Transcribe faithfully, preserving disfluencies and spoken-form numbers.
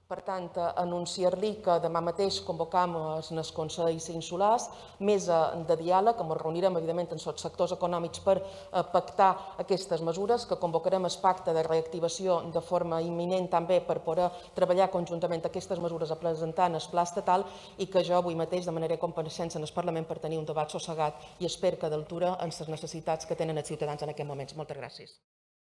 Per tant, anunciar-li que demà mateix convocam el Consell Insulars, mesa de diàleg, on ens reunirem, evidentment, amb els sectors econòmics per pactar aquestes mesures, que convocarem el pacte de reactivació de forma imminent també per poder treballar conjuntament aquestes mesures a presentar en el pla estatal i que jo avui mateix demanaré compareixença en el Parlament per tenir un debat sossegat i espero que d'altura en les necessitats que tenen els ciutadans en aquests moments. Moltes gràcies.